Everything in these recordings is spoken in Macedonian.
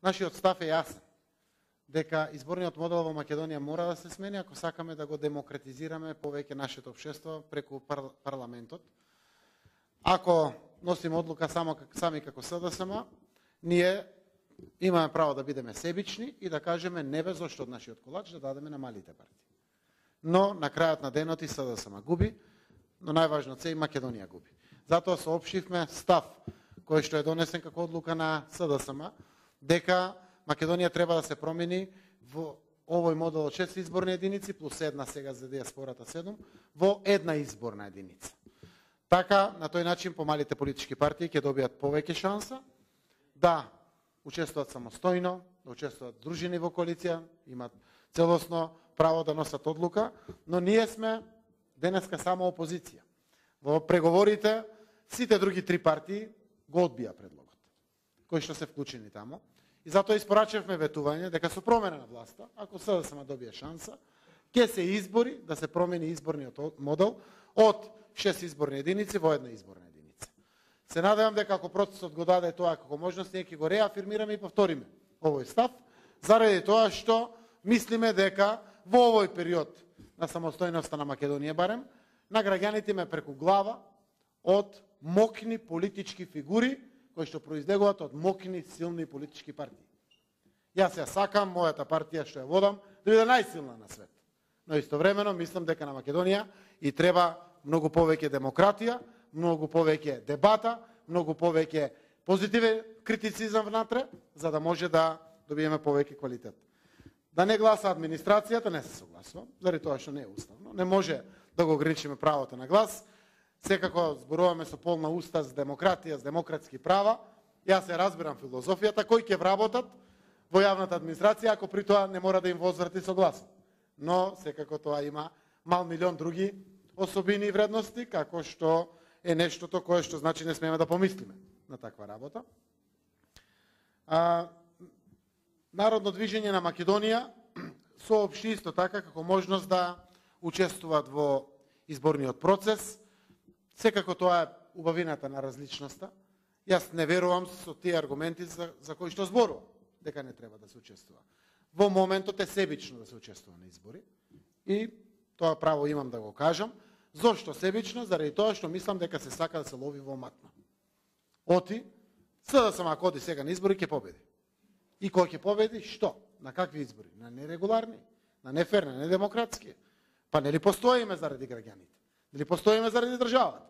Нашиот став е јасен, дека изборниот модел во Македонија мора да се смени ако сакаме да го демократизираме повеќе нашето општество преку парламентот. Ако носиме одлука сами како СДСМ, ние имаме право да бидеме себични и да кажеме не бе зошто од нашиот колач да дадеме на малите партии. Но на крајот на денот и СДСМ губи, но најважно се и Македонија губи. Затоа соопштивме став кој што е донесен како одлука на СДСМ, дека Македонија треба да се промени во овој модел од 6 изборни единици плюс една сега за диаспората 7 во една изборна единица. Така, на тој начин помалите политички партии ќе добијат повеќе шанса да учествуваат самостојно, да учествуваат дружини во коалиција, имаат целосно право да носат одлука, но ние сме денеска само опозиција. Во преговорите сите други три партии го одбија предлогот, кои што се вклучени тамо. И затоа испорачавме ветување дека со промена на власта, ако СДСМ добие шанса, ќе се избори да се промени изборниот модел од 6 изборни единици во една изборна единица. Се надевам дека ако процесот го даде тоа како можност, ние ќе го реафирмираме и повториме овој став, заради тоа што мислиме дека во овој период на самостојноста на Македонија барем, на граѓаните ме преку глава од мокни политички фигури кои што произлегуваат од мокни, силни политички партии. Јас ја сакам мојата партија што ја водам да биде најсилна на свет. Но истовремено мислам дека на Македонија и треба многу повеќе демократија, многу повеќе дебата, многу повеќе позитивен критицизам внатре, за да може да добиеме повеќе квалитет. Да не гласа администрацијата, не се согласувам, заради тоа што не е уставно. Не може да го ограничиме правото на глас. Секако зборуваме со полна уста за демократија, за демократски права. Јас се разбирам филозофијата, кои ќе вработат во јавната администрација, ако при тоа не мора да им возврати согласно. Но секако тоа има мал милион други особини и вредности, како што е нештото кое што значи не смееме да помислиме на таква работа. Народно движење на Македонија соопшти исто така како можност да учествуваат во изборниот процес. Секако тоа е убавината на различноста. Јас не верувам со тие аргументи за кои што зборувам, дека не треба да се учествува. Во моментот е себично да се учествува на избори и тоа право имам да го кажам. Зошто себично? Заради тоа што мислам дека се сака да се лови во матна. Оти, СДСМ ако оди сега на избори ќе победи. И кој ќе победи? Што? На какви избори? На нерегуларни, на неферни, на недемократски. Па нели постоиме заради граѓаните? Нели постоиме заради државата?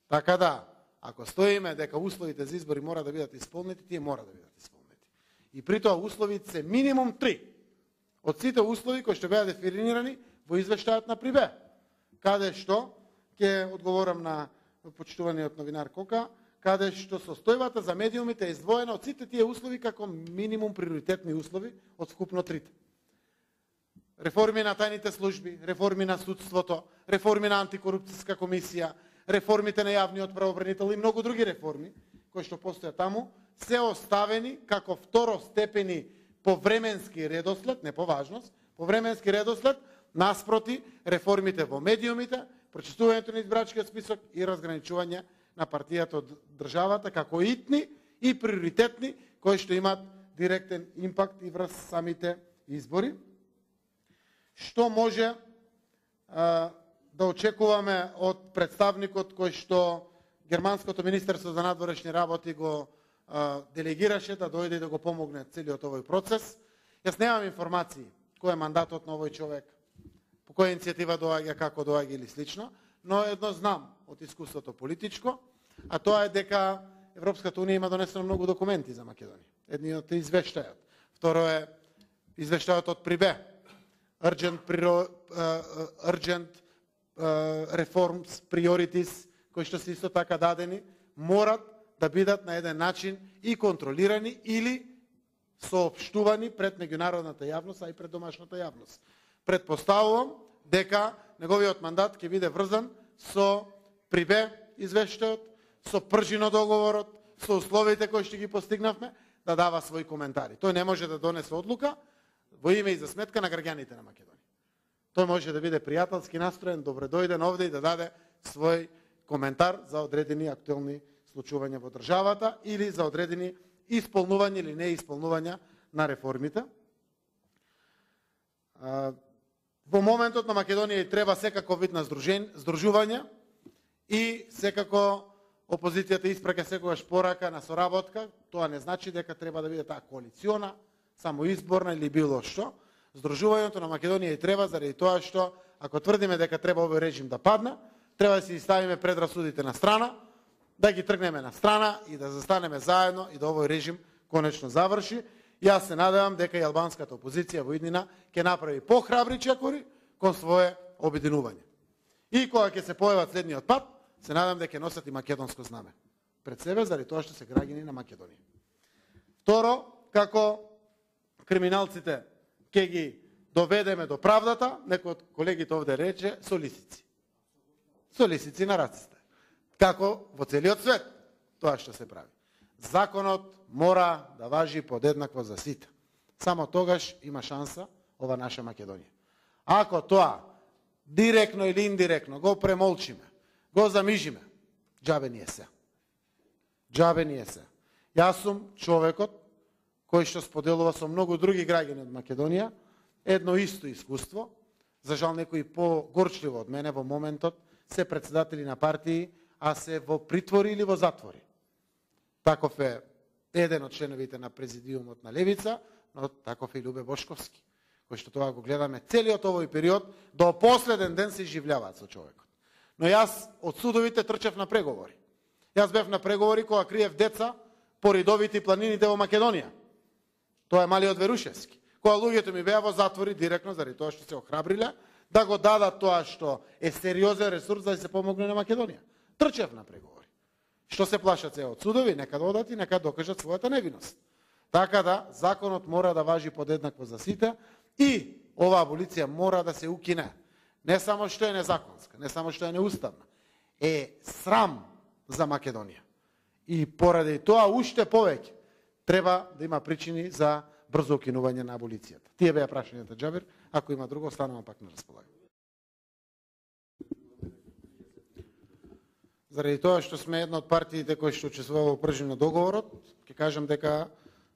Така да, ако стоиме дека условите за избори мора да бидат исполнети, тие мора да бидат исполнети. И при тоа условите се минимум 3. Од сите услови кои што беа дефинирани во извештајот на Прибе. Каде што, ќе одговорам на почитуваниот новинар Кока, каде што состојбата за медиумите е издвоена од сите тие услови како минимум приоритетни услови од вкупно 3. Реформи на тајните служби, реформи на судството, реформи на антикорупцијска комисија, реформите на јавниот правобранител и многу други реформи кои што постојат таму, се оставени како второстепени по временски редослед, не по важност, по временски редослед, наспроти реформите во медиумите, прочитувањето на избирачкиот список и разграничување на партијата од државата како итни и приоритетни кои што имаат директен импакт и врз самите избори. Што може да очекуваме од представникот кој што Германското министерство за надворешни работи го делегираше да дојде и да го помогне целиот овој процес? Јас немам информации кој е мандатот на овој човек, по која иницијатива доаѓа, како доаѓа или слично, но едно знам од искуството политичко, а тоа е дека Европската унија има донесено многу документи за Македонија. Едниот е извештајот. Второ е извештајот од Прибе. Urgent reforms, priorities, кои што се исто така дадени, морат да бидат на еден начин и контролирани или соопштувани пред меѓународната јавност, а и пред домашната јавност. Предпоставувам дека неговиот мандат ќе биде врзан со Прибе извештајот, со пржино договорот, со условите кои што ги постигнавме, да дава своји коментари. Тој не може да донесе одлука во име и за сметка на граѓаните на Македонија. Тој може да биде пријателски настроен, добредојден овде и да даде свој коментар за одредени актуелни случувања во државата или за одредени исполнување или неисполнување на реформите. Во моментот на Македонија и треба секако вид на здружување и секако опозицијата испраќа секогаш порака на соработка. Тоа не значи дека треба да биде таа коалициона, само изборна или било што. Здружувањето на Македонија и треба заради тоа што ако тврдиме дека треба овој режим да падне, треба да си ставиме предрасудите на страна, да ги тргнеме на страна и да застанеме заедно и да овој режим конечно заврши. Јас се надевам дека и албанската опозиција во иднина ќе направи похрабри чекори кон свое обединување. И кога ќе се појават следниот пат, се надам дека ќе носат и македонско знаме пред себе, заради тоа што се граѓани на Македонија. Второ, како криминалците ќе ги доведеме до правдата, некој од колегите овде рече, со лисици. Со лисици на раците. Како во целиот свет тоа што се прави. Законот мора да важи подеднакво за сите. Само тогаш има шанса ова наша Македонија. Ако тоа директно или индиректно го премолчиме, го замижиме, џабе ни е се. Џабе ни е се. Јас сум човекот кој што споделува со многу други граѓани од Македонија едно исто искуство. За жал некои погорчливо од мене во моментот се председатели на партии, а се во притвори или во затвори. Таков е еден од членовите на президиумот на Левица, но таков е Љубе Бошковски, кој што тоа го гледаме целиот овој период, до последен ден се изживljаваат со човекот. Но јас од судовите трчав на преговори. Јас бев на преговори кога криев деца по ридовите и планините во Македонија. Тоа е Малиот Верушевски. Кога луѓето ми беа во затвори директно заради тоа што се охрабриле да го дадат тоа што е сериозен ресурс за да се помогне на Македонија. Трчев на преговори. Што се плашат се од судови, нека одат и нека докажат својата невиност. Така да, законот мора да важи подеднакво за сите и оваа аболиција мора да се укине. Не само што е незаконска, не само што е неуставна, е срам за Македонија. И поради тоа уште повеќе треба да има причини за брзо укинување на аболицијата. Тие беа прашањата, Џабир, ако има друго, останувам пак на располагање. Заради тоа што сме една од партиите кои што учествува во пржина договорот, ќе кажам дека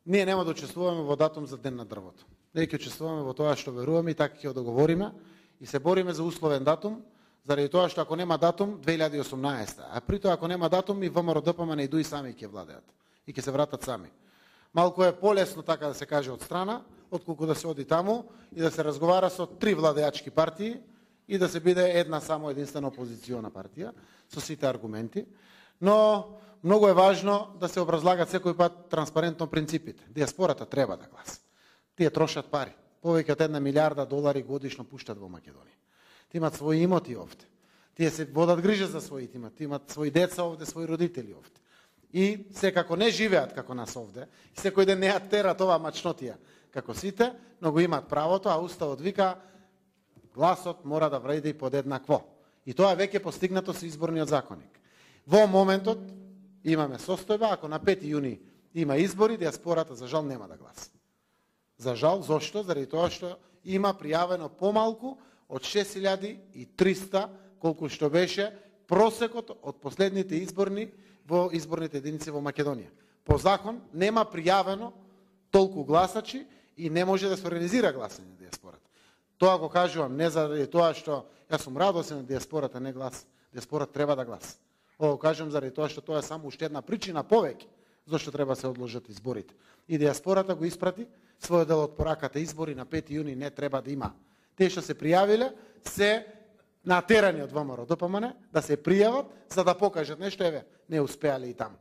ние нема да учествуваме во датум за Ден на дрвото. Ние ќе учествуваме во тоа што веруваме и така ќе договориме и се бориме за условен датум, заради тоа што ако нема датум 2018, а при тоа ако нема датум и ВМРО ДПМН и сами ќе владеат и ќе се вратат сами. Малку е полесно така да се каже од страна, отколку да се оди таму и да се разговара со три владеачки партии и да се биде една само единствена опозициона партија со сите аргументи, но многу е важно да се образлагат секој пат транспарентно принципите. Диаспората треба да гласа. Тие трошат пари. Повеќе од $1 милиарда годишно пуштат во Македонија. Тие имат своји имоти овде. Тие се водат грижа за своите имоти, имат своји деца овде, своји родители овде. И секако не живеат како нас овде, и секој ден не ја терат оваа мачнотија како сите, но го имаат правото, а уставот вика гласот мора да вреди подеднакво. И тоа веќе постигнато со изборниот законник. Во моментот имаме состојба, ако на 5 јуни има избори, диаспората за жал нема да гласа. За жал, зошто? Заради тоа што има пријавено помалку од 6300, колку што беше просекот од последните изборни во изборните единици во Македонија. По закон нема пријавено толку гласачи и не може да се организира гласање на диаспората. Тоа го кажувам не заради тоа што јас сум радосен на диаспората не гласа. Диаспората треба да гласа. Ова го кажувам заради тоа што тоа е само уште една причина повеќе зашто треба се одложат изборите. И диаспората го испрати својот дел од пораката избори на 5 јуни не треба да има. Тие што се пријавиле се натерани од ВМРО ДПМН да се пријават за да покажат нешто, еве, не успеале и таму.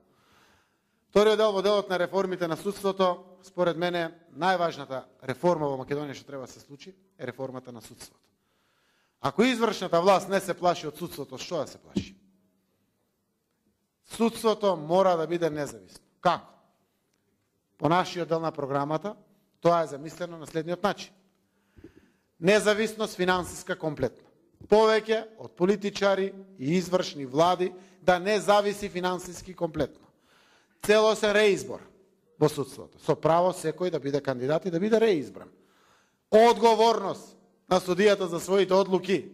Вториот дел во делот на реформите на судството, според мене, најважната реформа во Македонија што треба да се случи е реформата на судството. Ако извршната власт не се плаши од судството, што да се плаши? Судството мора да биде независно. Како? По нашиот дел на програмата, тоа е замислено на следниот начин. Независност финансиска комплетно. Повеќе од политичари и извршни влади да не зависи финансиски комплетно. Целосен реизбор во судството. Со право секој да биде кандидат и да биде реизбран. Одговорност на судијата за своите одлуки.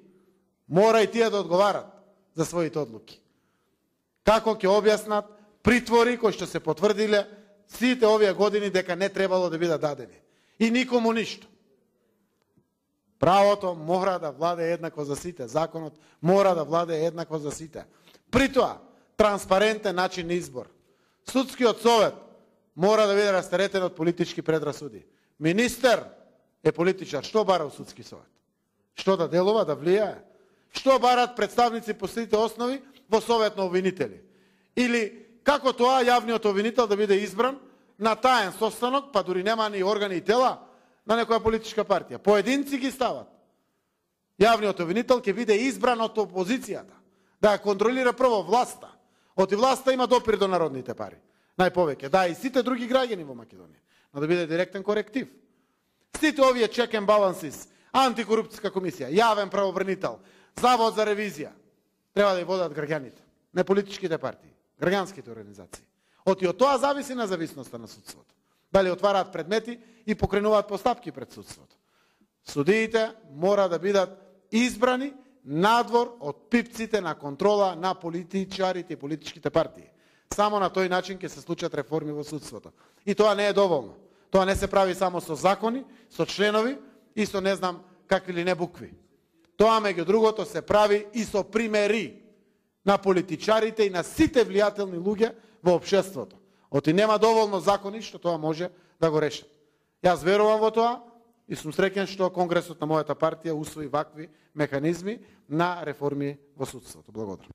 Мора и тие да одговарат за своите одлуки. Како ќе објаснат притвори кои што се потврдиле сите овие години дека не требало да бидат дадени. И никому ништо. Правото мора да владее еднакво за сите. Законот мора да владее еднакво за сите. При тоа, транспарентен начин на избор. Судскиот совет мора да биде растеретен од политички предрасуди. Министер е политичар. Што бара у судски совет? Што да делува, да влијае? Што барат представници по сите основи во совет на обвинители? Или како тоа јавниот обвинител да биде избран на таен состанок, па дури нема ни органи и тела на некоја политичка партија. Поединци ги стават. Јавниот обвинител ќе биде избран од опозицијата, да ја контролира прво власта. Оти власта има допир до народните пари. Најповеќе. Да, и сите други граѓани во Македонија. Но да биде директен коректив. Сите овие check and balances, антикорупцијска комисија, јавен правобранител, завод за ревизија, треба да ја водат граѓаните, не политичките партии, граѓанските организации. Оти од тоа зависи независноста на судството. Дали отвараат предмети и покренуваат постапки пред судството. Судиите мора да бидат избрани надвор од пипците на контрола на политичарите и политичките партии. Само на тој начин ќе се случат реформи во судството. И тоа не е доволно. Тоа не се прави само со закони, со членови и со не знам какви ли не букви. Тоа меѓу другото се прави и со примери на политичарите и на сите влијателни луѓе во општеството. Оти нема доволно закони што тоа може да го решат. Јас верувам во тоа и сум среќен што Конгресот на мојата партија усвои вакви механизми на реформи во судството. Благодарам.